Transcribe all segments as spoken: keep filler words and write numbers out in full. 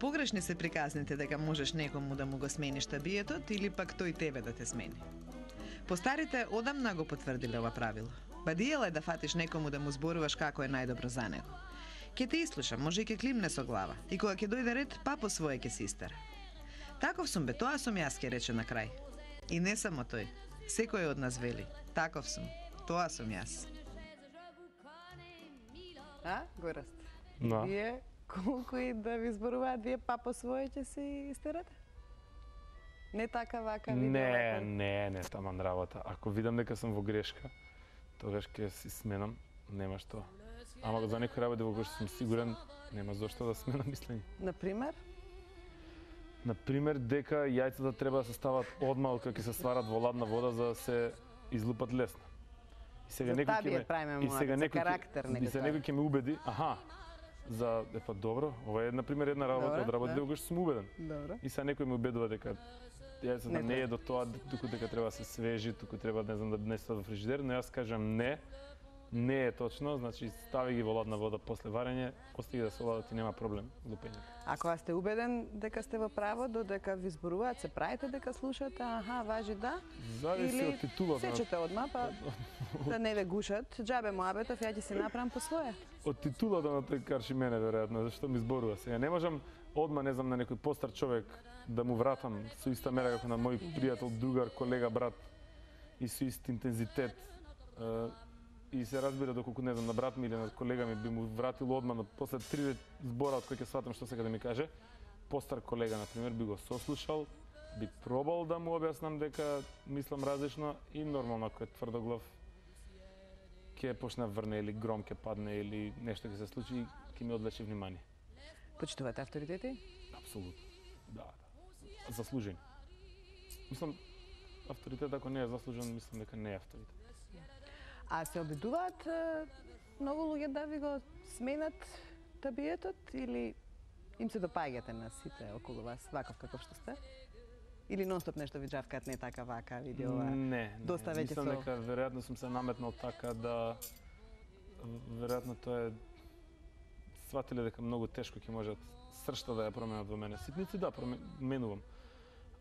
Погрешни се приказните дека можеш некому да му го смениш табиетот или пак тој тебе да те смени. Постарите одамна го потврдиле ова правило. Бадијело е да фатиш некому да му зборуваш како е најдобро за него. Ке те ислушам, може и ке климне со глава. И кога ќе дојде ред, па по своje ке се истера. Таков сум бе, тоа сум јас, ке рече на крај. И не само тој. Секој од нас вели. Таков сум. Тоа сум јас. А, Гораст? Да. Вие, колку и да ви зборуваат, вие па по своje ќе се истерате? Не така, вака, видео, Не, вака? не, не, таман работа. Ако видам дека сум во грешка, тогаш ќе си сменам, нема што. Ама за некој работи во кој што сум сигурен, нема зошто да сменам мислење. Например? Например, дека јајцата треба да се стават одма кога ќе се сварат во ладна вода за да се излупат лесно. И сега За некој ќе табиет ме правиме и сега муабет, за некој ќе- карактер, и нека сега тоа. некој ќе ме убеди, аха, за е па добро, ова е на пример една работа Добро, од работите да. во кој што сум убеден. Добро. И сега некој ме убедува дека јајцата Не не, треба. е до тоа, туку дека треба да се свежи, туку треба не знам да не стават во фрижидер, но јас кажам не. Не е точно, значи стави ги во ладна вода после варење, остаги да се оладат и нема проблем лупење. А кога сте убеден дека сте во право, додека ви зборуваат, се правите дека слушате, аха, важи да? Зависи Или од титулата. на- сечете одма, па да не ве гушат. Џабе муабетов, ја ќе си направам по своje. Од титулата на тој карши мене веројатно, зашто ми зборува. Сега не можам одма, не знам, на некој постар човек да му вратам со иста мера како на мој пријател, другар, колега, брат и со ист интензитет. Е, И се разбира доколку не знам на брат ми или на колега ми би му вратил одма, но после три збора од кои ќе сватам што сека да ми каже, постар колега на пример би го сослушал, би пробал да му објаснам дека мислам различно и нормално ако е тврдоглав ќе почне да врне или гром ќе падне или нешто ќе се случи и ќе ми одлечи внимание. Почитувате авторитети? Апсолутно. Да, да. Заслужени. Мислам, авторитет ако не е заслужен, мислам дека не е авторитет. А се обидуваат е, многу луѓе да ви го сменат табиетот или им се допаѓате на сите околу вас, ваков каков што сте? Или нонстоп нешто ви џавкаат не така вака, види ова? Не, не. доста веќе Мислам со- дека веројатно сум се наметнал така да веројатно тоа е сватиле дека многу тешко ќе можат сршта да ја променат во мене. Ситници да, променувам.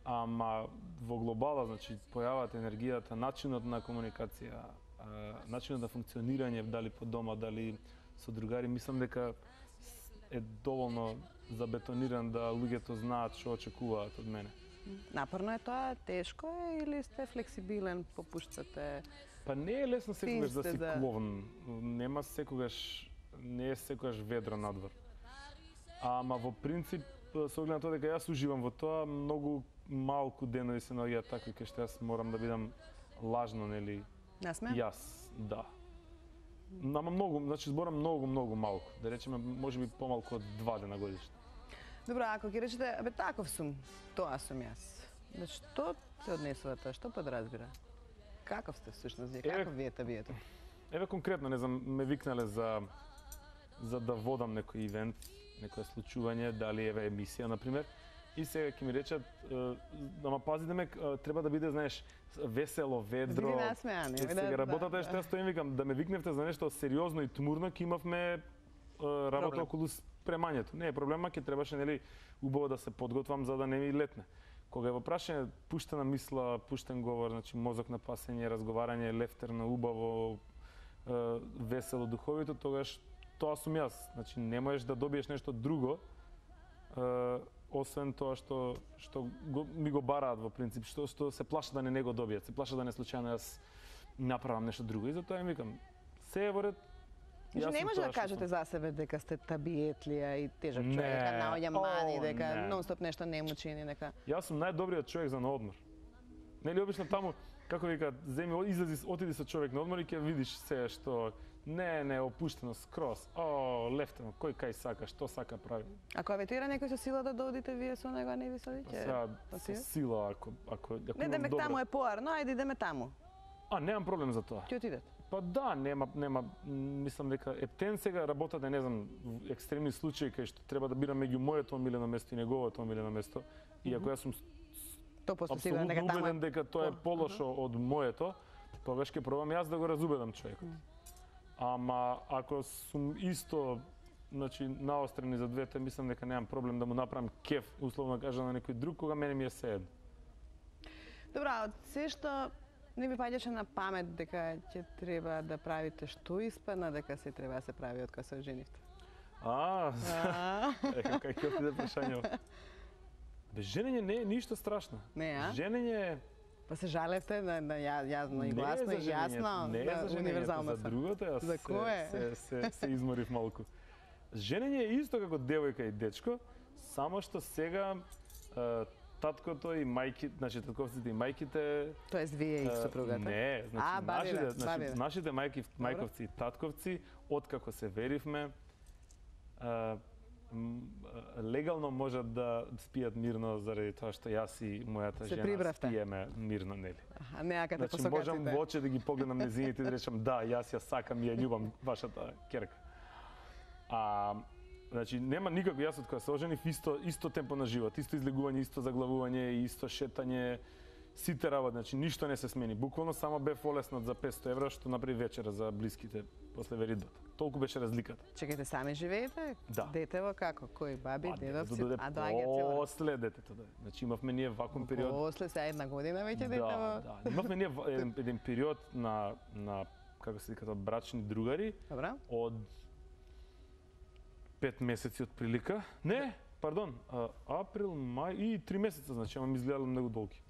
Ама во глобала, значи, појавата енергијата, начинот на комуникација, а, начинот на функционирање, дали по дома, дали со другари, мислам дека е доволно забетониран да луѓето знаат што очекуваат од мене. Напорно е тоа, тешко е или сте флексибилен, попуштате? Па не е лесно секогаш да сте си да- кловн. Нема секогаш, не е секогаш ведро надвор. Ама во принцип, со оглед на тоа дека јас уживам во тоа, многу малку денови се наоѓаат такви кај што јас морам да бидам лажно, нели? Насме? Јас, да. Ама многу, значи зборам многу, многу малку. Да речеме, можеби помалку од два дена годишно. Добро, ако ќе речете, абе таков сум, тоа сум јас. Значи, што се однесува тоа? Што подразбира? Каков сте всушност вие? Еве- Каков ви е табието? Еве конкретно, не знам, ме викнале за за да водам некој ивент, некое случување, дали еве емисија на пример. И сега ќе ми речат, е, ама пази да ме е, треба да биде, знаеш, весело, ведро. Биде насмеан, Е, да, сега да, работата е да. што јас стоим викам да ме викневте за нешто сериозно и тмурно, ќе имавме е, работа Проблем. околу спремањето. Не е проблема, ќе требаше нели убаво да се подготвам за да не ми летне. Кога е во прашање пуштена мисла, пуштен говор, значи мозок на пасење, разговарање, лефтерно, убаво, е, весело, духовито, тогаш тоа сум јас. Значи не можеш да добиеш нешто друго, е, освен тоа што што го, ми го бараат во принцип, што што се плашат да не не го добијат, се плашат да не случајно јас направам нешто друго. И затоа им викам, се е во ред. Значи, јас не сум може тоа да што кажете сум. за себе дека сте табиетлија и тежок Не. човек, дека наоѓа мани, О, дека не. нонстоп нешто не му чини, дека... Јас сум најдобриот човек за на одмор. Нели обично таму, како вика, земи излези, отиди со човек на одмор и ќе видиш се што не, не, опуштено скроз. О, лефтено, кој кај сака, што сака прави. Ако аветира некој со сила да доодите вие со него, а не ви со Па виќе? сега па со си? сила ако ако ако Не, имам демек добра- таму е поарно, ајде идеме таму. А, немам проблем за тоа. Ќе отидете. Па да, нема нема мислам дека ептен сега работата, не знам, в екстремни случаи кај што треба да бирам меѓу моето омилено место и неговото омилено место. И ако јас сум Тоа после сигурно апсолутно дека таму убеден е... дека тоа е по- полошо од моето, тогаш ќе пробам јас да го разубедам човекот. Ама ако сум исто значи наострени за двете, мислам дека немам проблем да му направам кеф, условно кажа на некој друг, кога мене ми е сеедно. Добра, од се што не ми паѓаше на памет дека ќе треба да правите, што испадна дека се треба да се прави од кога се оженивте? А, е, кај ќе отиде прашање. Бе, женење не е ништо страшно. Не, а? Женење е... Па се жалевте на, на ја, јасно и гласно и јасно, не е да, за универзално за другото, јас За кое? се, се, се, се изморив малку. Женење е исто како девојка и дечко, само што сега е, таткото и мајки, значи татковците и мајките... Тоест вие и сопругата? Не, значи а, бабиве, нашите, значи, бабиве. нашите мајки, мајковци и татковци, откако се веривме, е, легално можат да спијат мирно заради тоа што јас и мојата се жена прибравте. спиеме мирно, нели? А не акате Значи по можам сокаците. во очи да ги погледнам незините и да речам да, јас ја сакам и ја љубам вашата ќерка. А значи нема никако, јас од кога се оженив исто исто темпо на живот, исто излегување, исто заглавување, исто шетање, сите работи, значи ништо не се смени. Буквално само бев олеснат за петсто евра што направи вечера за блиските после веридбата. Толку беше разликата. Чекајте, сами живеете? Да. Детево како? Кој баби, дедовци? дојде А доаѓа цело. после детето да. Значи имавме ние вакуум период. После сега една година веќе Да, детево. да. Имавме ние ва- еден, еден период на на како се викаат брачни другари Добра. од пет месеци од прилика. Не, пардон, а, април, мај и три месеца, значи, ама ми изгледало многу долги.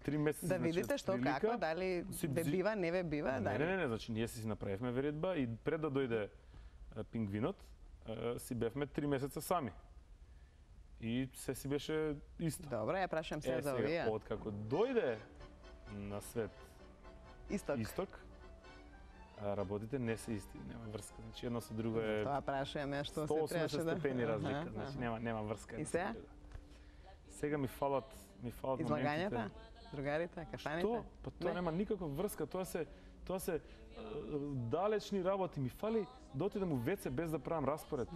Три месеци, Да значи, видите од што прилика. како, дали си ве бзи- бива, не ве бива, Не, дали? не, не, не, значи ние си си направивме веридба и пред да дојде е, пингвинот, е, си бевме три месеца сами. И се си беше исто. Добро, ја прашам се Е, за сега, овие. откако дојде на свет Исток. исток, а, работите не се исти, нема врска. Значи едно со друго е Тоа прашуваме што се сто и осумдесет требаше да... степени разлика, Аха, значи аха. нема нема врска. И едно со сега? друго. Сега ми фалат, ми фалат Излагањата, моментите. другарите, кафаните? Што? Па тоа Не. нема никаква врска, тоа се тоа се е, далечни работи. Ми фали да отидам у ве це без да правам распоред.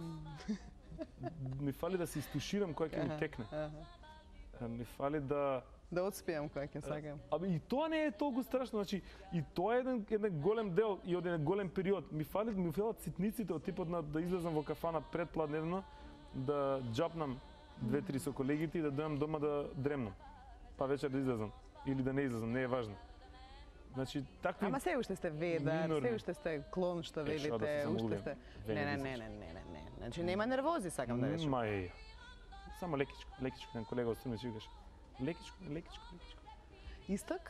Ми фали да се истуширам кој ќе ми Аха, текне. аха. Е, Ми фали да Да отспијам кој ќе сакам. Абе и тоа не е толку страшно, значи и тоа е еден еден голем дел и од еден голем период. Ми фали ми фалат ситниците од типот на да излезам во кафана предпладневно, да џапнам две-три со колегите и да дојдам дома да дремнам. Па вечер да излезам или да не излезам, не е важно. Значи такви Ама се уште сте ведар, минорни. се уште сте клон што Е, што да се велите, уште замолувам. сте... Веќе Не, не, не не, значи. не, не, не, не. Значи нема нервози, сакам да речам. Ма е. Само лекичко, лекичко, еден колега од Струмица викаше. Лекичко, лекичко, лекичко. Исток?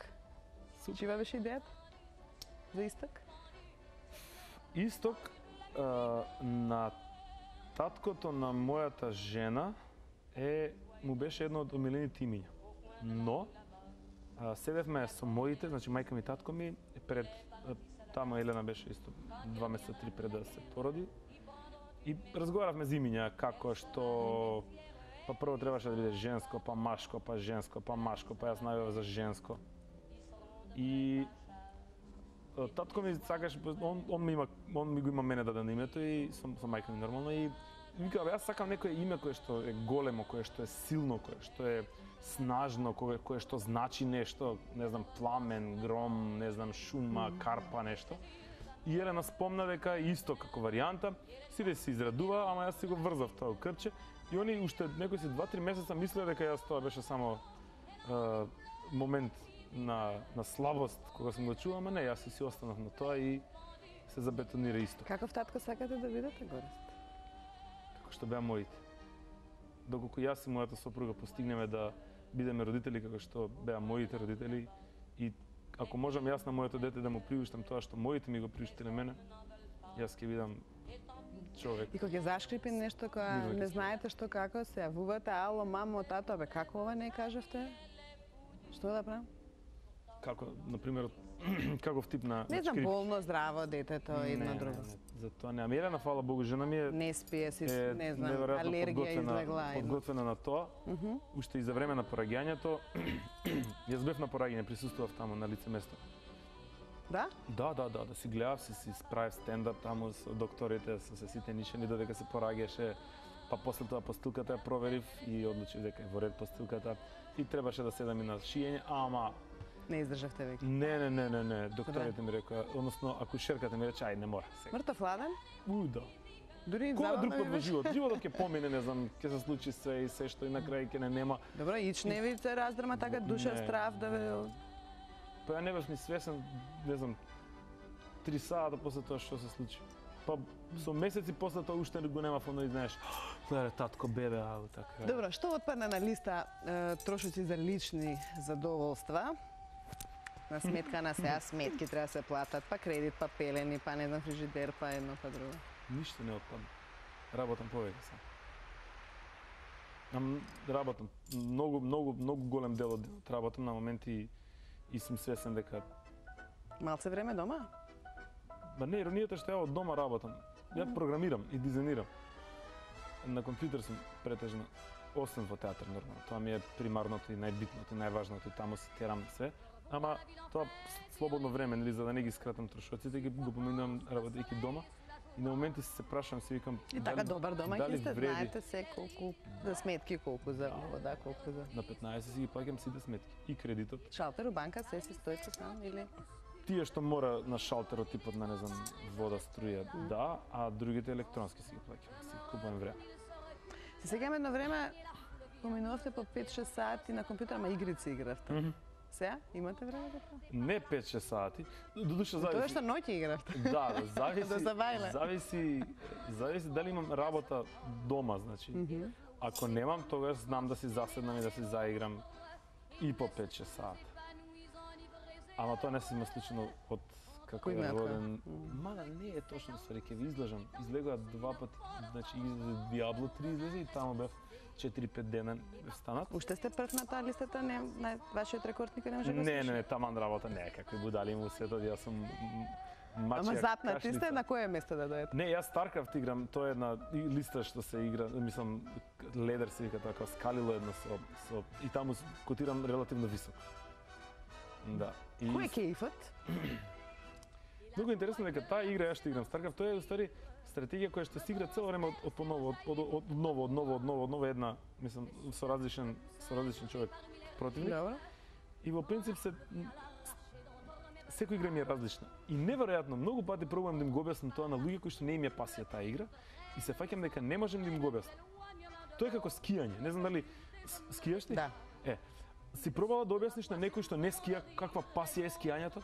Супер. Чива беше идејата? За исток? Исток а, на таткото на мојата жена е му беше едно од омилените имиња. Но а, седевме со моите, значи мајка ми и татко ми пред а, тама Елена беше исто два месеца три пред да се породи и разговаравме за имиња како што па прво требаше да биде женско, па машко, па женско, па машко, па јас најавив за женско. И а, татко ми сакаш, он, он, ми има, он ми го има мене дадено името и со, со мајка ми нормално и вика, бе, јас сакам некое име кое што е големо, кое што е силно, кое што е снажно, кое, кое што значи нешто, не знам, пламен, гром, не знам, шума, карпа, нешто. И Елена спомна дека е исто како варијанта, сите се израдува, ама јас си го врзав тоа крче и они уште некои си два-три месеца мислеа дека јас тоа беше само е, момент на, на слабост кога сум го чула, ама не, јас си останав на тоа и се забетонира исто. Каков татко сакате да бидете, Горест? Како што беа моите. Доколку јас и мојата сопруга постигнеме да бидеме родители како што беа моите родители и ако можам јас на моето дете да му приуштам тоа што моите ми го приуштиле мене, јас ќе бидам човек. И кога ќе зашкрипи нешто кога Никога ќе не се. знаете што како се јавувате, ало, мамо, тато, бе, како ова не кажавте? Што да правам? Како, на пример, каков тип на Не на знам, шкрип? болно, здраво, детето, Не, едно не, друго. не, за тоа не. Ами Елена, фала Богу, жена ми е Не спие си, е не знам, неверојатно алергија подготвена- излегла. едно. подготвена на тоа. Уште и за време на пораѓањето, јас бев на пораѓање, присуствував таму на лице место. Да? Да, да, да, да си гледав, си си справив стендап таму со докторите, со се сите нишани додека се пораѓаше, па после тоа постилката ја проверив и одлучив дека е во ред постилката и требаше да седам и на шиење, ама Не издржавте веќе. не, не, не, не, не, докторите ми рекоа, односно акушерката ми рече, ај, не мора сега. Мртов ладен? У, да. Дури Кој друг забавно пат ми во беше. живот? Животот ќе помине, не знам, ќе се случи се и се што и на крај ќе не нема. Добро, ич не ви се раздрма така душа Не. страв да ве Па ја не бев ни свесен, не знам, три сата после тоа што се случи. Па со месеци после тоа уште го нема фоно и знаеш, гледај татко бебе, ау така. Добро, што отпадна на листа е, трошоци за лични задоволства? На сметка на сега сметки треба да се платат, па кредит, па пелени, па не знам фрижидер, па едно па друго. Ништо не отпадна. Работам повеќе сам. Ам, работам. Многу, многу, многу голем дел од денот работам на моменти и сум свесен дека Малце време дома? Ба не, иронијата што ја од дома работам. Ја програмирам и дизајнирам. На компјутер сум претежно, освен во театар нормално. Тоа ми е примарното и најбитното и најважното и таму си терам се. Ама тоа слободно време, нели, за да не ги скратам трошоците, ги го поминувам работејќи дома. И на моменти се прашам, се викам, И така добар дома дали ќе сте, вреди? знаете се колку за сметки, колку за вода, колку за На петнаесет си ги плаќам сите сметки. И кредитот. шалтер у банка се си стоите сам или Тие што мора на шалтерот, типот на, не знам, вода, струја, да, а другите електронски си ги плаќам. Си купувам време. се сеќавам едно време поминувавте по пет-шест сати на компјутер, ама игрици игравте. Мгм. Сега имате време за тоа? Не пет-шест сати. Додуша Тоа зависи. што ноќе игравте. Да, да, зависи. Да забајле. Зависи, зависи дали имам работа дома, значи. Ако немам, тогаш знам да си заседнам и да си заиграм и по пет-шест сати. Ама тоа не се има случено од како Кој е знаат роден. Мада не е точно ствари, ќе ви излажам. Излегува два пати, значи излезе Диабло три излезе и таму бев четири-пет дена не бев станат. Уште сте прв на таа листата, не, на вашиот рекорд никој не може да го Не, не, слуша? не, таман работа не е какви будали му светот, јас сум м, мачија Ама запнати сте кашлица. на кое место да дојдете? Не, јас StarCraft играм, тоа е една и- листа што се игра, мислам, ледер се вика така, скалило едно со, со и таму с- котирам релативно високо. Да. И Кој е кејфот? Многу интересно дека таа игра ја што играм StarCraft, тоа е уствари стратегија која што се игра цело време од, од поново, од, од, од ново, од ново, од ново, од ново една, мислам, со различен, со различен човек противник. Добро. И во принцип се секој игра ми е различна. И неверојатно многу пати пробувам да им го објаснам тоа на луѓе кои што не им е пасија таа игра и се фаќам дека не можам да им го објаснам. Тоа е како скијање. Не знам дали с- скијаш ти? Да. Е, си пробала да објасниш на некој што не скија каква пасија е скијањето?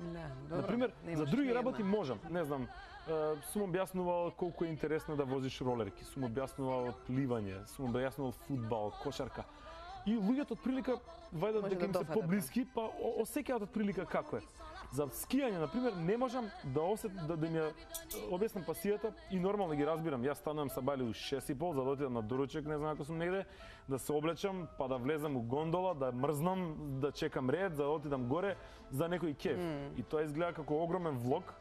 Да, добро. Например, Немаш за други ни една. работи можам. Не знам, е, сум објаснувал колку е интересно да возиш ролерки, сум објаснувал пливање, сум објаснувал фудбал, кошарка. И луѓето од прилика вајдат Може дека да им се дофатат. поблиски, па о- осеќаат од прилика како е. За скијање, например, не можам да осет да, да ми ја објаснам пасијата и нормално ги разбирам. Јас станувам са бали у шест и пол за да отидам на доручек, не знам ако сум негде, да се облечам, па да влезам у гондола, да мрзнам, да чекам ред, за да отидам горе за некој кеф. Mm. И тоа изгледа како огромен влог,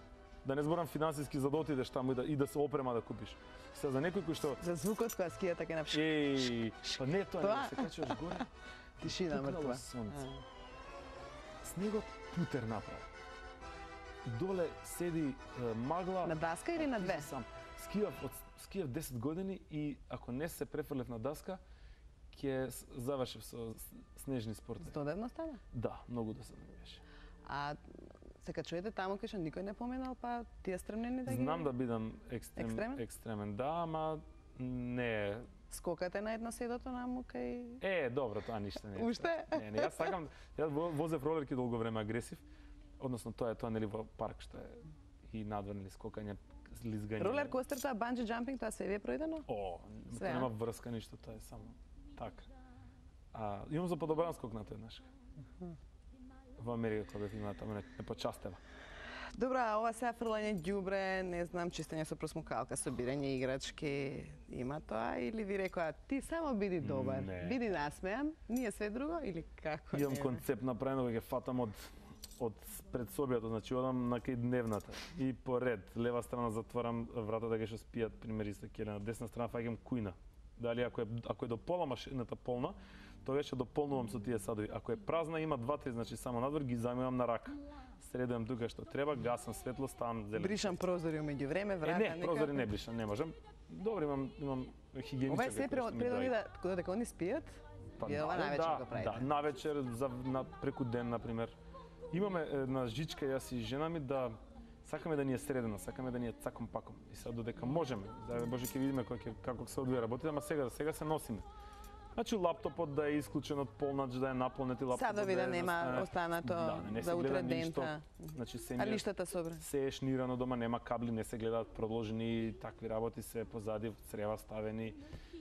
да не зборам финансиски за да отидеш таму и да, и да се опрема да купиш. Се за некој кој што За звукот кога скијата ќе напиш. еј, па не тоа, Тоа? не, се качуваш горе. Тишина пукнало мртва. сонце. Снегот путер направи. Доле седи е, магла. На даска или а на ти две? си Сам. Скијав од скијав десет години и ако не се префрлев на даска, ќе с- завршив со с- снежни спортови. Здодевно стана. Да, многу досадно ми беше. А се качувате таму кај што никој не поменал, па тие стремнени да ги... Знам да бидам екстрем, Екстремен? екстремен, да, ама не. Скокате на едно седото наму кај... Е, добро, тоа ништо не е. Уште? Не, не, јас сакам, јас во- возев ролерки долго време агресив, односно тоа е тоа нели во парк што е и надвор нели скокање, лизгање. Ролер костер, тоа банджи джампинг, тоа се ви е проидено? О, Све, тоа а? нема врска ништо, тоа е само така. А имам за подобран скок на тој еднаш. Во Америка кога бев има таму не, не почастева. Добро, а ова сега фрлање ѓубре, не знам, чистење со просмукалка, собирање играчки, има тоа или ви рекоа ти само биди добар, Не. биди насмеан, ние све друго или како? Имам не? концепт направен кога ќе фатам од од пред собијата, значи одам на кај дневната и по ред, лева страна затворам вратата кај што спијат примери со келе, на десна страна фаќам кујна. Дали ако е ако е до пола машината полна, тогаш ќе дополнувам со тие садови. Ако е празна, има два-три, значи само надвор ги замивам на рака. Средувам тука што треба, гасам светло, ставам зелен. Бришам прозори умеѓу време, Е, врата, не, прозори не бришам, не можам. Добро, имам имам хигиеничар. Ова е се пред пред они да додека они спијат, вие ова навечер да, го правите. Да, навечер за на преку ден на пример. Имаме една жичка јас и жена ми да Сакаме да ни е средено, сакаме да ни е цаком паком. И сега додека можеме, да Боже ќе видиме кој ќе како се одвија работите, ама сега сега се носиме. Значи лаптопот да е исклучен од полнач, да е наполнет и лаптопот Садови да, да е нема застане. останато да, не за се утре гледа дента. ништо. Значи се А не лиштата собра. се е шнирано дома, нема кабли, не се гледаат продолжени такви работи, се позади црева ставени,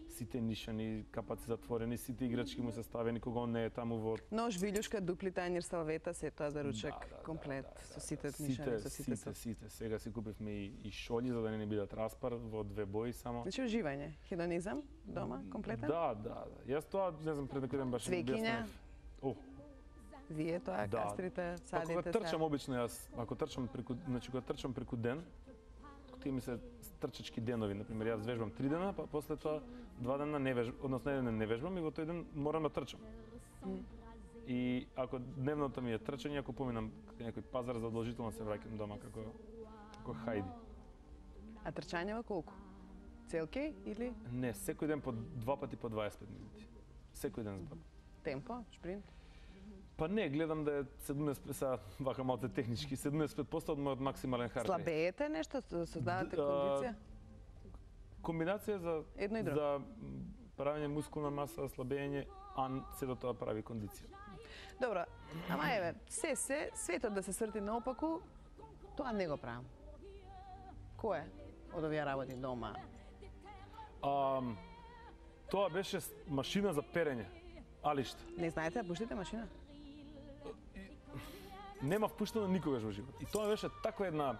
сите нишани, капаци затворени, сите играчки му се ставени кога он не е таму во Нож, вилјушка, дупли тајнир, салвета, се тоа за ручек, Да, да, комплет, да, да, со сите да. нишани, со сите. сите, сите. Сега си купивме и, и шолји за да не ни бидат распар во две бои само. Значи уживање, хедонизам, дома, комплетен? Да, да, да. Јас тоа, не знам, пред некој ден баш Цвекиња? О, Вие тоа, Да. кастрите, па кога садите, трчам обично јас, ако трчам преку, значи кога трчам преку ден, тие ми се трчачки денови, на пример, јас вежбам три дена, па после тоа два дена не вежбам, односно еден ден не вежбам и во тој ден морам да трчам. Mm. И ако дневното ми е трчање, ако поминам некој пазар, задолжително се враќам дома како како хајди. А трчањева колку? Целки или Не, секој ден по два пати по дваесет и пет минути. Секој ден збор. темпо, шпринт? Па не, гледам да е седумдесет, сега вака малце технички, седумдесет и пет проценти од мојот максимален хард рейт. Слабеете нешто, создавате Д- а, кондиција? Комбинација за Едно и друго. за правење мускулна маса, слабење, а се до тоа прави кондиција. Добро, ама еве, се се, светот да се срти наопаку, тоа не го правам. Кој е од овие работи дома? А, тоа беше с- машина за перење. Алишта. Не знаете да пуштите машина? Нема впуштено никогаш во живот. И тоа беше таква една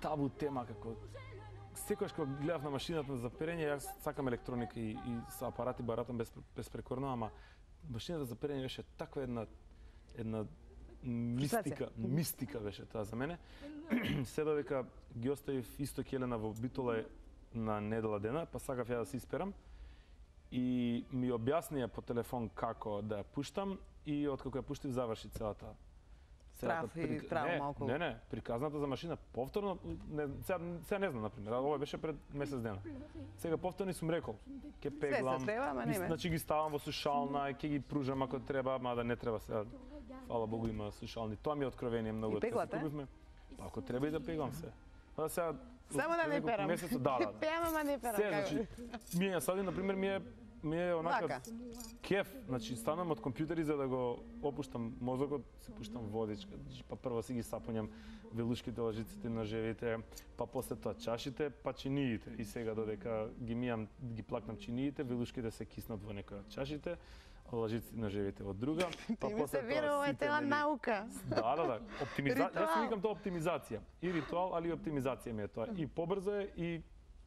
табу тема како секогаш кога гледав на машината за перење, јас сакам електроника и, и со апарати баратам без, безпрекорно, ама машината за перење беше таква една една мистика, мистика беше тоа за мене. Се додека ги оставив исто Келена во Битола на недела дена, па сакав ја да се исперам. И ми објаснија по телефон како да ја пуштам и откако ја пуштив заврши целата Страф и травма околу. Не, не, приказната за машина повторно, не, сега, сега не знам, например, ова беше пред месец дена. Сега повторно сум рекол, ќе пеглам, се треба, ама ги- неме. значи ги ставам во сушална, ќе ги пружам ако треба, мада не треба сега. Фала Богу има сушални. Тоа ми е откровение многу. И од кога пеглате? си купивме. Па ако треба и да пеглам се. Па сега Само да не неколку перам. месеци- да, да, да. Пеам, ама не перам. Се, како? значи, ми е сади, например, ми е ми е онака Лака. кеф, значи станам од компјутери за да го опуштам мозокот, си пуштам водичка, значи, па прво си ги сапунјам велушките, лажиците, ножевите, па после тоа чашите, па чиниите. И сега додека ги мијам, ги плакнам чиниите, велушките се киснат во некоја од чашите, лажиците, ножевите во друга, па Ти ми после се вира, ова е сите, цела нели, наука. Да, да, да. Оптимизација. Јас Ритуал. си викам тоа оптимизација. И ритуал, али и оптимизација ми е тоа. И побрзо е и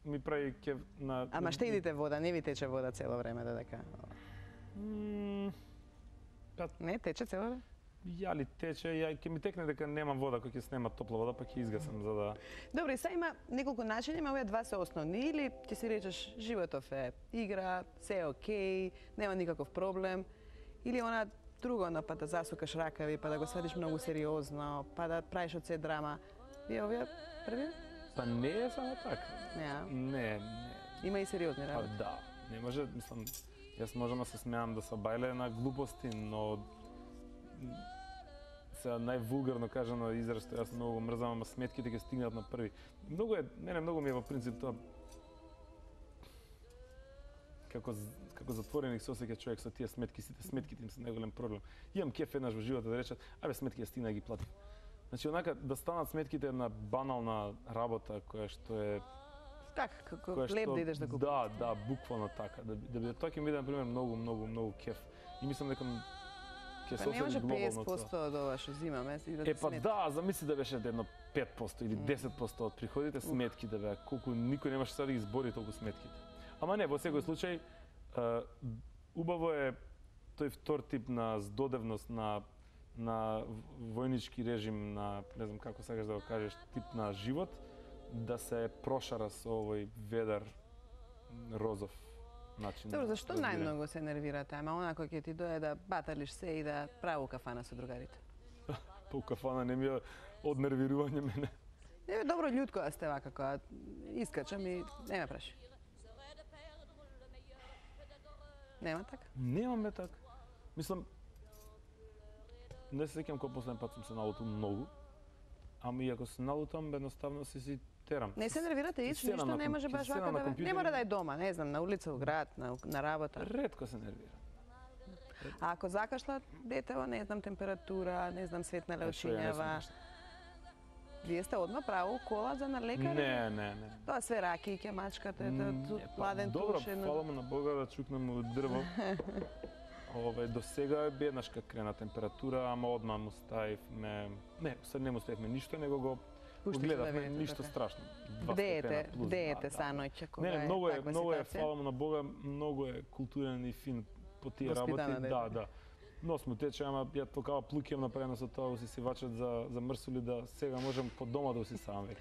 ми прави кеф на Ама штедите вода, не ви тече вода цело време додека. М, Па Не, тече цело време? ја ли тече, ја ќе ми текне дека нема вода, кога ќе снема топла вода, па ќе изгасам за да Добро, и сега има неколку начини, ама овие два се основни. Или ќе си речеш животов е игра, се е окей, нема никаков проблем. Или она друго, но па да засукаш ракави, па да го свадиш многу сериозно, па да правиш од се драма. Вие овие први? Па не е само така. Не, Не, не. има и сериозни Па работи. да. Не може, мислам, јас можам да се смеам да се бајле на глупости, но м, сега највулгарно кажано израз што јас многу го мрзам, ама сметките ќе стигнат на први. Многу е, мене многу ми е во принцип тоа како з- како затвореник се осеќа човек со тие сметки, сите сметките им се најголем проблем. Имам кеф еднаш во животот да речат, абе сметки ја стигна да ги платив. Значи онака да станат сметките една банална работа која што е Така, како која што леп да идеш да купиш. Да, да, буквално така. Да, да биде тоа ќе ми биде на пример многу, многу, многу кеф. И мислам дека ќе се Па не може осети глобално тоа. петдесет проценти од ова што зимаме и да Е ти па смета. да, замисли да беше едно пет проценти или десет проценти од приходите сметки да беа, колку никој немаше сега да ги збори толку сметките. Ама не, во секој случај е, убаво е тој втор тип на здодевност на на војнички режим, на не знам како сакаш да го кажеш, тип на живот, да се прошара со овој ведар розов начин. Добро, зашто на разбирање. најмногу се нервирате? Ама онако ќе ти дое да баталиш се и да праву кафана со другарите. Па у кафана не ми е однервирување мене. Не, добро људко да сте вака, кога искачам и не ме праши. Нема така? Немаме така. Мислам, не се сеќам кога последен пат сум се налутил многу, ама и ако се налутам, едноставно се си терам. Не се нервирате ич, Седам ништо на не ком- може баш седам вака на да ве... Не компјутер мора и- да е дома, не знам, на улица, у град, на, на работа. Ретко се нервирам. А ако закашла детево, не знам, температура, не знам, светнале Е, што ја не сум очињава, баш. вие сте одма право кола за на лекар? Не, не, не. Тоа све ракијке, мачкате, М, да, е, па, ладен добро, туш, едно... фала му на Бога да чукнем у дрво. Ове до сега е еднашка крена температура, ама одма му ставивме, не, sad не му ставивме ништо, него го Пуштите да гледавме, видите ништо така. страшно. Два Бде степена ете, плюс, бде да, ете да. саноќе, кога Не, не, многу е е, таква многу е, ситуација? фала му на Бога, многу е културен и фин по тие Воспитано работи. дете. Да, да. Нос му тече, ама ја толкава плуки имам направено со тоа, усисивачот за, за мрсули, да сега можем по дома да усисавам веќе.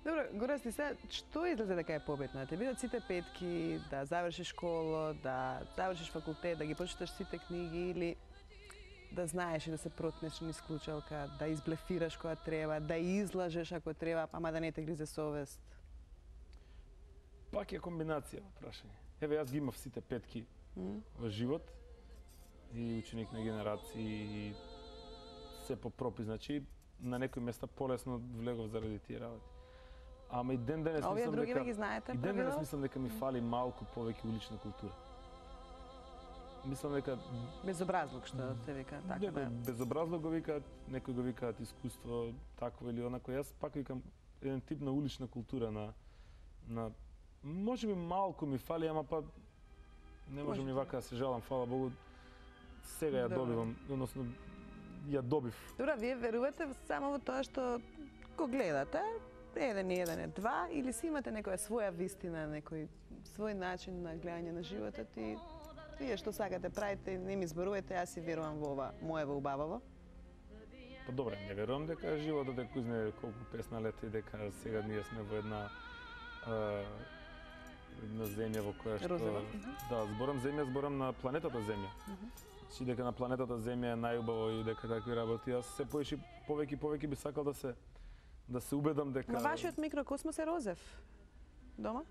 Добро, Горасти, сега, што излезе дека е победно? Да те бидат сите петки, да завршиш школа, да завршиш факултет, да ги прочиташ сите книги или да знаеш и да се протнеш низ клучалка, да изблефираш кога треба, да излажеш ако треба, ама да не те гризе совест. Пак е комбинација во прашање. Еве, јас ги имав сите петки М? во живот и ученик на генерации и се по пропис, значи на некои места полесно влегов заради тие работи. Ама и ден денес А овие мислам други дека ги знаете и ден денес правила? мислам дека ми фали малку повеќе улична култура. Мислам дека Безобразлук што те вика, така некој да. безобразно го викаат, некој го викаат искуство такво или онако. Јас пак викам еден тип на улична култура на на можеби малку ми фали, ама па не можам Можете. ни вака да се жалам, фала Богу. Сега ја Добро. добивам, односно ја добив. Добра, вие верувате само во тоа што го гледате, еден и еден е два, или си имате некоја своја вистина, некој свој начин на гледање на животот и вие што сакате правите, не ми зборувате, јас си верувам во ова, моево убававо. Па добре, не верувам дека животот е кој знае колку песна лета и дека сега ние сме во една а, една земја во која што Розова. да, зборам земја, зборам на планетата Земја. Чи дека на планетата Земја е најубаво и дека такви работи. Јас се поише повеќе и повеќе би сакал да се да се убедам дека Ма вашиот микрокосмос е розев. Дома?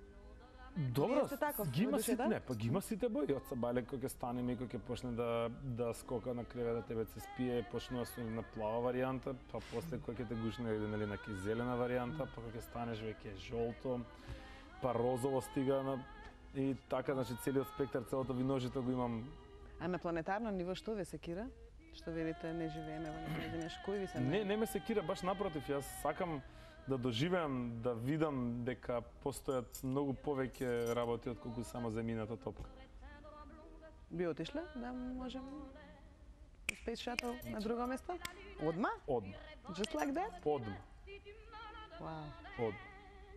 Добро, Вие сте таков, ги има во сите, душата? не, па ги има сите бои. Од Сабале кој ќе стане ми, кој ќе почне да да скока на кревета, тебе се спие, почнува со на плава варијанта, па после кој ќе те гушне нели на ке зелена варијанта, па кој ќе станеш веќе жолто, па розово стига на и така, значи целиот спектар, целото виножито го имам. А на планетарно ниво што ве секира? Што велите не живееме во некој неш, кој ви се Не, не ме секира, баш напротив, јас сакам да доживеам, да видам дека постојат многу повеќе работи од колку само земјината топка. би отишле да можем Space Shuttle на друго место? Одма? Одма, Just like that? одма, Вау. одма.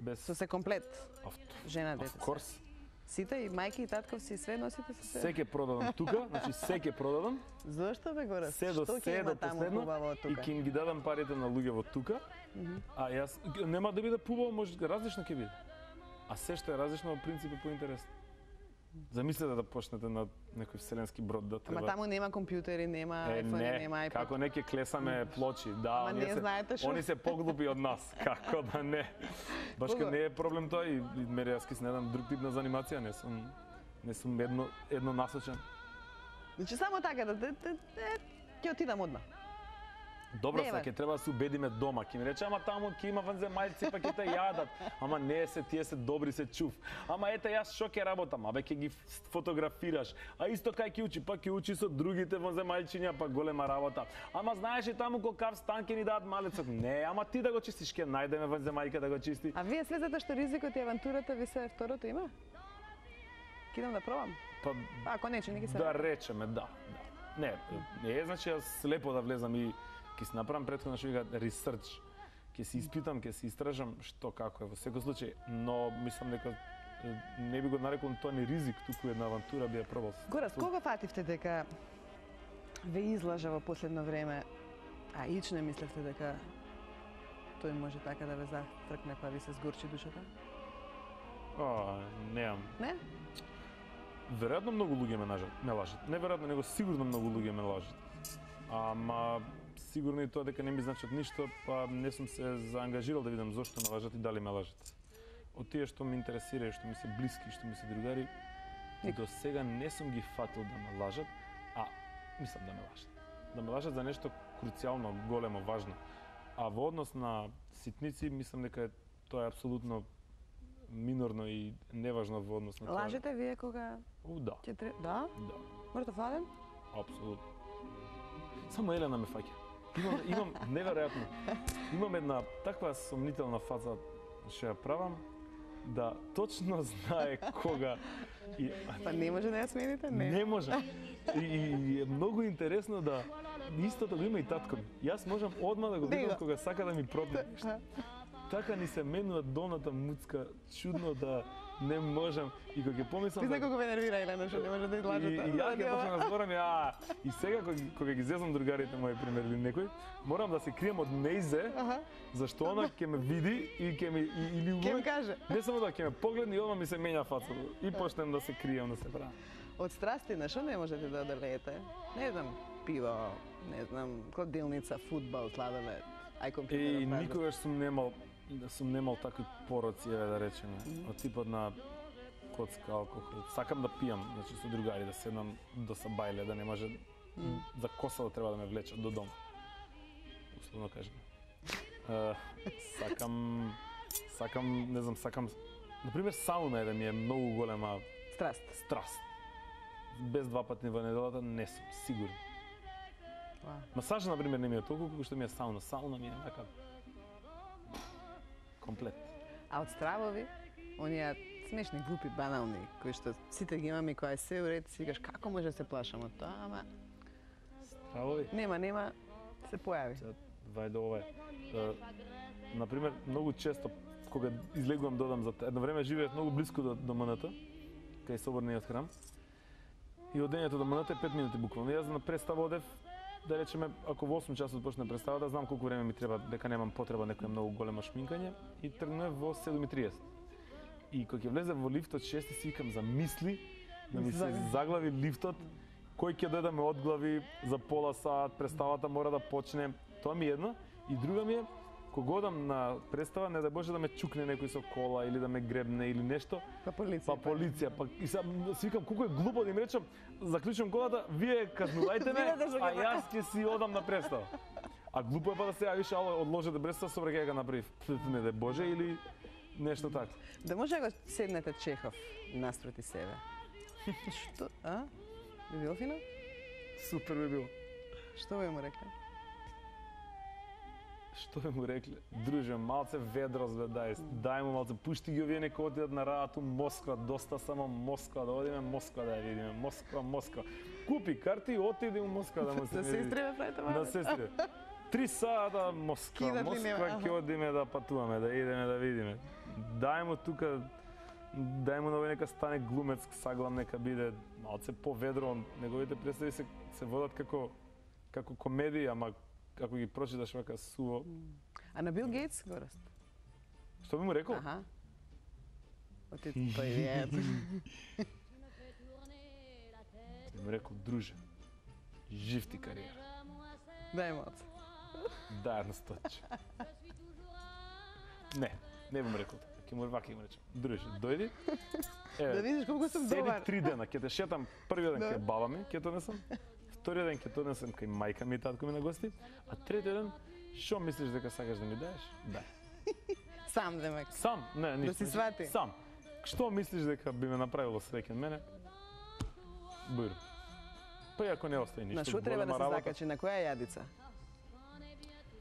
Без Со се комплет, авто. жена, Of дете. се. course. Сите и мајки и татковци све носите со се. Се ќе продадам тука, значи се ќе продадам, Зошто бе горе? се до Што ќе се има до таму последно хубаво од и тука? ќе им ги дадам парите на луѓето тука. А јас нема да биде пубаво, може различно ќе биде. А се што е различно во принцип е поинтересно. Замислете да почнете на некој вселенски брод да треба. Ама таму нема компјутери, нема Е, iPhone, не, нема iPad. како не ќе клесаме плочи, да, Ама оние не се, знаете што? они се поглупи од нас, како да не. Баш Кога? ке не е проблем тоа и, и мере јас ке снедам друг тип на занимација, не сум не сум едно едно насочен. Значи само така да да, да, да ќе отидам одма. Добро, Нема. сега ќе треба да се убедиме дома. Ќе ми рече, ама таму ќе има ванземајци, па ќе те јадат. Ама не се, тие се добри, се чув. Ама ете, јас што ќе работам? Абе, ќе ги фотографираш. А исто кај ќе учи, па ќе учи со другите ванземајчиња, па голема работа. Ама знаеш ли таму колкав стан ќе ни дадат малецот? Не, ама ти да го чистиш, ќе најдеме ванземајка да го чисти. А вие слезате што ризикот и авантурата ви се второто има? Ке идам да пробам. Па, А, ако не, че не ги се да враќа. речеме, да, да. Не, не е значи јас слепо да влезам и ќе си направам претходно што вика research. Ќе си испитам, ќе си истражам што како е во секој случај, но мислам дека е, не би го нарекол тоа ни ризик, туку една авантура би ја пробал. Горас, кога фативте дека ве излажа во последно време, а ич не мислевте дека тој може така да ве зафркне па ви се сгорчи душата? А, неам. Не? Веројатно многу луѓе ме нажат, ме лажат. Не веројатно, него сигурно многу луѓе ме лажат. Ама сигурно и тоа дека не ми значат ништо, па не сум се заангажирал да видам зошто ме лажат и дали ме лажат. Од тие што ме интересира и што ми се блиски, што ми се другари, Нико. до сега не сум ги фатил да ме лажат, а мислам да ме лажат. Да ме лажат за нешто круцијално, големо, важно. А во однос на ситници, мислам дека е, тоа е апсолутно минорно и неважно во однос на тоа. Лажете вие кога У, да. ќе тре... Да? Да. Мртов ладен? Апсолутно. Само Елена ме фаќа. Имам, имам неверојатно. Имам една таква сомнителна фаза што ја правам, да точно знае кога и Па не може да ја смените? Не. не може. И, и е многу интересно да истото го има и татко ми. Јас можам одма да го видам Него. кога сака да ми пропне нешто. Така ни се менува долната муцка, чудно да не можам. И кога ќе помислам Ти знај колку ме нервира Елена што не може да И, излажете. и јас ќе почнам да зборам и а и сега кога, кога ги зезам другарите мои пример или некој, морам да се крием од нејзе, Аха. зашто она ќе ме види и ќе ми и, или Ке ми каже. не само да ќе ме погледне и одма ми се менја фаца и почнем да се крием, да се правам. Од страсти на што не можете да одолеете? Не знам, пиво, не знам, кладилница, фудбал, сладолед, ај компјутер. И никогаш сум немал да сум немал такви пороци, еве да речеме, од типот на коцка, алкохол. Сакам да пијам, значи со другари, да седнам до сабајле, да не може за коса да треба да ме влечат до дом. Условно кажем. Е, сакам сакам, не знам, сакам например сауна е да ми е многу голема Страст. страст. Без два пати во неделата не сум сигурен. Вау. Масаж например не ми е толку колку што ми е сауна. Сауна ми е така комплет. А од стравови, оние смешни, глупи, банални, кои што сите ги имаме и која е се уред, си кажеш како може да се плашам од тоа, ама Стравови. нема, нема, се појави. Сега, вајде ова е. Е, Например, многу често кога излегувам додам за едно време живеев многу блиску до, до МНТ, кај соборниот храм. И од дењето до МНТ е пет минути буквално. Јас на представа одев, да речеме, ако во осум часот почне представата, знам колку време ми треба, дека немам потреба некоја многу големо шминкање и тргнав во седум и триесет. И кога ќе влезев во лифтот шести си викам за мисли, да ми се заглави лифтот, кој ќе дојде да ме одглави за пола сат, представата мора да почне. Тоа ми е едно. И друга ми е, кога одам на представа, не да Боже да ме чукне некој со кола или да ме гребне или нешто, Па полиција. па полиција, па и сега си викам колку е глупо да им речам, заклучувам колата, вие казнувајте ме, Видете што а ќе јас ќе си одам на представа. А глупо е па да се јавиш, ало, одложете представа, со ќе го направи. Не да Боже или нешто така. Да може да го седнете Чехов наспроти себе. Што? А? Би било фино? Супер би било. Што би му рекле? Што би му рекле? Друже, малце ведро бе, дај, дај му малце, пушти ги овие нека отидат на работа у Москва, доста само Москва, да одиме Москва да ја видиме, Москва, Москва. Купи карти и отиди у Москва да му се Да види. сестри ме правите На малце? сестри. Три сата Москва, Кидат ли нема? Москва ќе одиме да патуваме, да идеме да видиме. Дај му тука, дај му нови нека стане глумец, саглам нека биде малце поведро, неговите представи се се водат како како комедија, ама како ги прочиташ вака суво. А на Бил Гейтс го раст. Што би му рекол? Аха. Оти привет. Би му рекол, друже, жив ти кариера. Дај малце. Дај едно сточе. Не, не би му рекол така. Ке му вака ќе му речем. Друже, дојди. Еве, Да видиш колку сум седи добар. три дена, ќе те шетам првиот ден Да. кај баба ми, ќе донесам. Вториот ден ќе донесам кај мајка ми и татко ми на гости, а третиот ден што мислиш дека сакаш да ми даеш? Дај. Сам демек. Сам, не, ништо. си свати. Сам. Што мислиш дека би ме направило среќен мене? Бур. Па и ако не остане ништо. На што треба да голема се работа. закачи, на која јадица?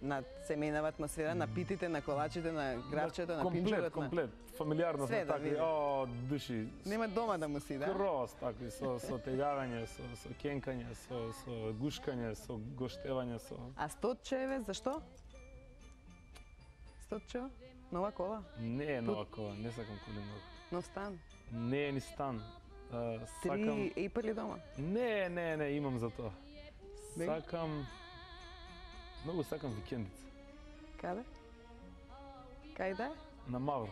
На семејнава атмосфера, на питите, на колачите, на гравчето, на комплет, пинџурот, на... комплет, фамилиарно Све сме да такви, види. о, души. Нема дома да му си, да? Кроз такви, со, со тегавање, со, со кенкање, со, со гушкање, со гоштевање, со... А стотчеве, зашто? Стотчево? Нова кола? Не е нова кола, не сакам коли многу. Нов стан? Не е ни стан. А, Три сакам... ейпали дома? Не, не, не, имам за тоа. Бе? Сакам... Многу сакам викендица. Каде? Кај да? На Мавро.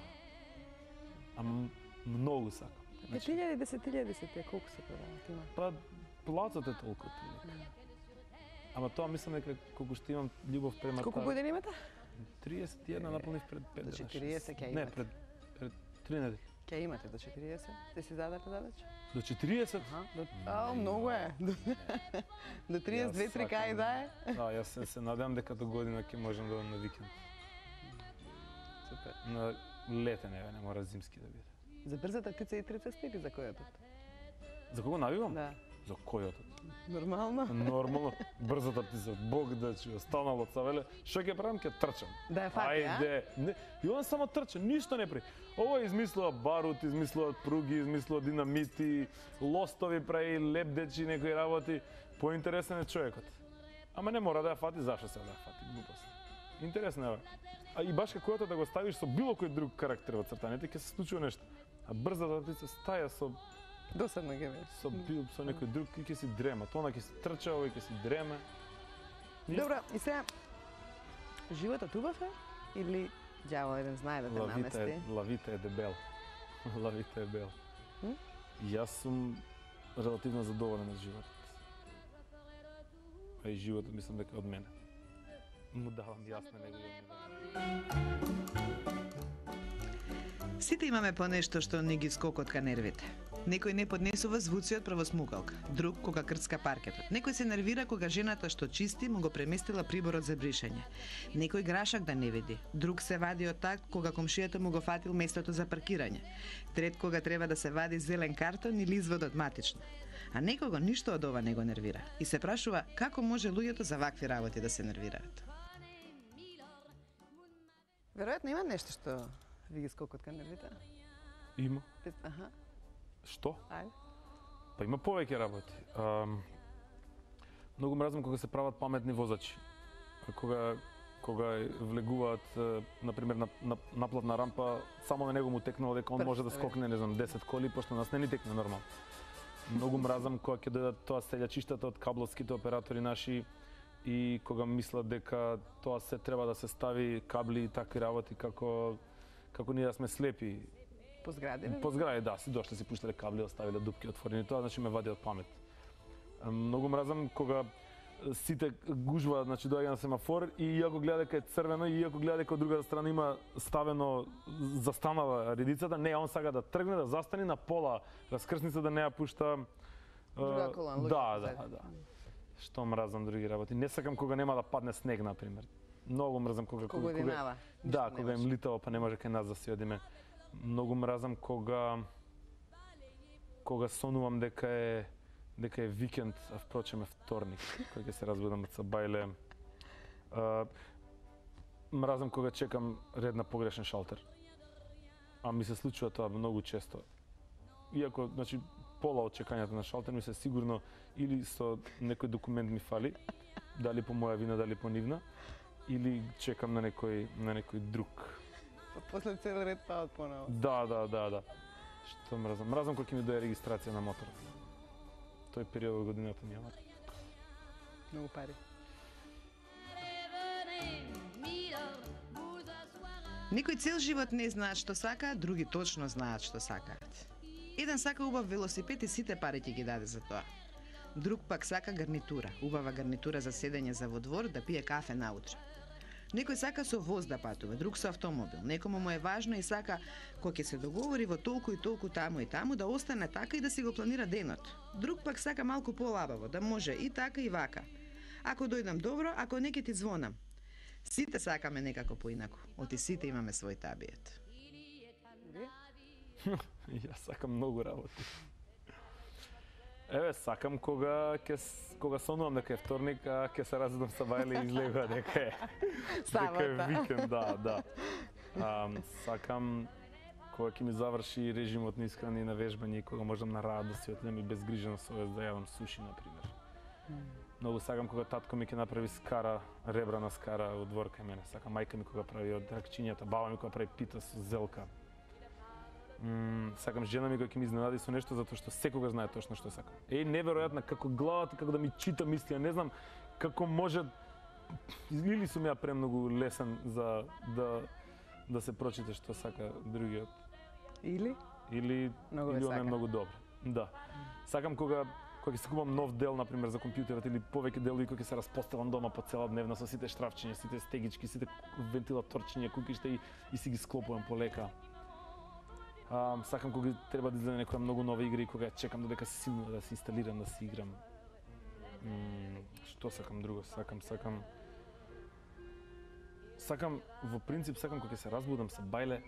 Ама многу сакам. Значи, пет илјади, десет илјади се тие, колку се продават има? па, плацот е толку отприлика. Ама тоа мислам дека колку што имам љубов према Колку таа- години имате? триесет и една наполнив пред пет До дена. четириесет ќе Не, имате. пред, пред три недели. Ќе Ке имате до четириесет? Сте си задали задача? До четириесет? Аха, до... Ао, многу е. До триесет две три кај да е? Да, јас се, се надевам дека до година ќе можам да одам на викенд. Супер. На летен, еве, не мора зимски да биде. За брзата птица и трицеста или за којотот? За кого навивам? Да. За којотот. Нормално? Нормално, брзата птица, Бог да чува, станало цавеле, што ќе правам, ќе трчам. Да ја фати, а? Ајде, не, и он само трча, ништо не прави. Ова измислува барут, измислува пруги, измислува динамити, лостови прави, лепдечи, некои работи. Поинтересен е човекот. Ама не мора да ја фати, зашто се да ја фати, глупост. Интересно е. А и баш како да го ставиш со било кој друг карактер во цртаните, ќе се случува нешто. А брзата птица стаја со Досадно ќе беше. со бил со некој друг и ќе си дрема. Тоа ќе си трча, овој ќе си дреме. Добро, и сега животот убав е или ѓавол еден знае да те Лавите намести? е, лавите е дебел. Лавите е бел. М? Јас сум релативно задоволен од животот. А и животот мислам дека од мене. Му давам јас на него и он ми дава. Сите имаме по нешто што ни ги скокотка нервите. Некој не поднесува звуци од правосмукалка, друг кога крцка паркетот. Некој се нервира кога жената што чисти му го преместила приборот за бришење. Некој грашак да не види, друг се вади од так кога комшијата му го фатил местото за паркирање. Трет кога треба да се вади зелен картон или изводот матично. А некого ништо од ова не го нервира и се прашува како може луѓето за вакви работи да се нервираат. Веројатно има нешто што ви ги скокотка нервите? Има. Аха, Што? ајде. Па има повеќе работи. Ам, многу мразам кога се прават паметни возачи. Кога кога влегуваат на пример на, на наплатна рампа, само на него му текнало дека он Прв, може да еве. скокне, не знам, десет коли, пошто нас не ни текне нормално. Многу мразам кога ќе дојдат тоа селјачиштата од кабловските оператори наши и кога мислат дека тоа се треба да се стави кабли и такви работи како како ние да сме слепи. По згради? По згради, да, си дошле, си пуштале кабли, оставиле дупки отворени, тоа значи ме вади од памет. Многу мразам кога сите гужваат, значи доаѓа на семафор и иако гледа дека е црвено и иако гледа дека од другата страна има ставено застанала редицата, не, он сака да тргне, да застани на пола раскрсница да не ја пушта. Друга кола, луѓе Да, да, позади. да. Што мразам други работи. Не сакам кога нема да падне снег, на пример. Многу мразам кога Кога одинава. Да, ништо не кога им може. литава, па не може кај нас да си одиме. Многу мразам кога кога сонувам дека е дека е викенд, а впрочем е вторник, кога ќе се разбудам од сабајле. А, мразам кога чекам ред на погрешен шалтер. А ми се случува тоа многу често. Иако, значи, пола од чекањето на шалтер ми се сигурно или со некој документ ми фали, дали по моја вина, дали по нивна, или чекам на некој на некој друг. После цел ред паат поново. Да, да, да, да. Што мразам? Мразам кога ќе ми дое регистрација на мотор. Тој период од годината ми е Многу пари. Некој цел живот не знаат што сакаат, други точно знаат што сакаат. Еден сака убав велосипед и сите пари ќе ги даде за тоа. Друг пак сака гарнитура, убава гарнитура за седење за во двор да пие кафе наутре. Некој сака со воз да патува, друг со автомобил. Некому му е важно и сака кога ќе се договори во толку и толку таму и таму да остане така и да си го планира денот. Друг пак сака малку полабаво, да може и така и вака. Ако дојдам добро, ако не ќе ти звонам. Сите сакаме некако поинаку. Оти сите имаме свој табиет. Јас сакам многу работи. Еве, сакам кога ќе с- кога сонувам дека е вторник, а ќе се разбудам сабајле и излегува дека е дека е Сабота. викенд, да, да. А, сакам кога ќе ми заврши режимот на исхрана и на вежбање и кога можам на рад да си отидам и без грижа на совест да јадам суши, на пример. Многу сакам кога татко ми ќе направи скара, ребрана скара од двор кај мене. Сакам мајка ми кога прави од ракчињата, баба ми кога прави пита со зелка. М, сакам жена ми кога ќе ми изненади со нешто затоа што секогаш знае точно што сакам. Е, неверојатно како главата како да ми чита мисли, не знам како може или сум ја премногу лесен за да да се прочита што сака другиот Или? или Многу ве или он е сака. многу добро. Да. Сакам кога кога ќе си купам нов дел на пример за компјутерот или повеќе делови кои ќе се распоставам дома по цела дневна со сите штрафчиња, сите стегички, сите вентилаторчиња, кукишта и, и си ги склопувам полека. А, сакам кога треба да излезе некоја многу нова игра и кога чекам додека се симнува да се инсталирам, да се играм. М, што сакам друго? Сакам, сакам... Сакам, во принцип, сакам кога се разбудам со бајле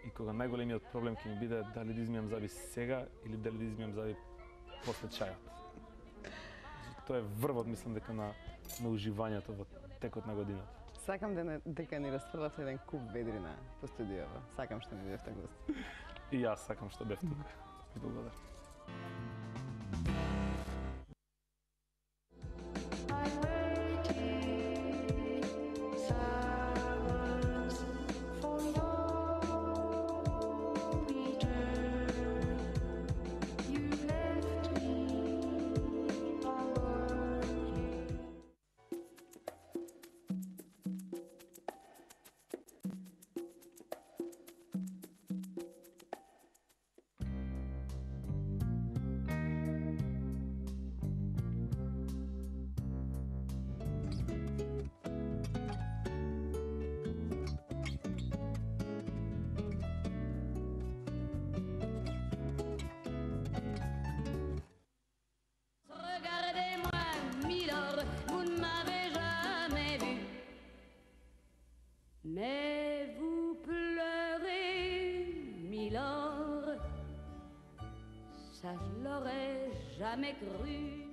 и кога најголемиот проблем ќе ми биде дали да измијам заби сега или дали да измијам заби после чајот. Тоа е врвот, мислам, дека на, на уживањето во текот на годината. Сакам да не, дека ни расфрлате еден куп ведрина по студиото. Сакам што ми бевте гост. И јас сакам што бев тука. Благодарам. Mais vous pleurez, Milord, ça je l'aurais jamais cru.